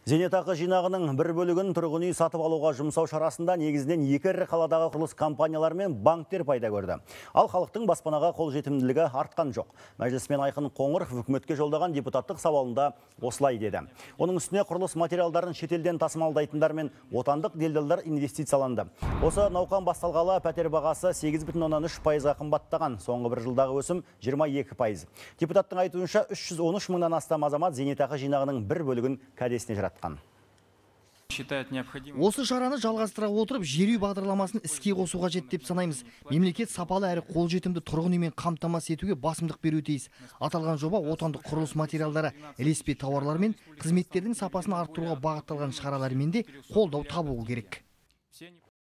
Зейнетақы жинағының бір бөлігін тұрғын үй сатып алуға жұмсау шарасында негізінен екі ірі қаладағы құрылыс компаниялары мен банктер пайда көрді. Ал халықтың баспанаға қолжетімділігі артқан жоқ. Мәжілісмен Айқын Қоңыров үкіметке жолдаған депутаттық сауалында осылай деді. Оның үстіне құрылыс материалдарын шетелден тасымалдайтындар мен отандық делдалдар инвестицияланды. Осы науқан басталғалы пәтер бағасы 8,3%-ға қымбаттаған. Соңғы бір жылдағы өсім 22%. Депутаттың айтуынша 313 мыңнан астам азамат зейнетақы жинағының бір бөлігін кәдесіне жаратқан. Осы шараны жалғастыра отырып, жер үй бағдарламасын іске қосу қажет деп санаймыз. Мемлекет сапалы әрі қолжетімді тұрғын үймен қамтамасыз етуге басымдық беруі тиіс. Аталған жоба отандық құрылыс материалдары, ілеспе тауарлар мен қызметтердің сапасын арттыруға бағытталған шаралармен де қолдау табуы керек.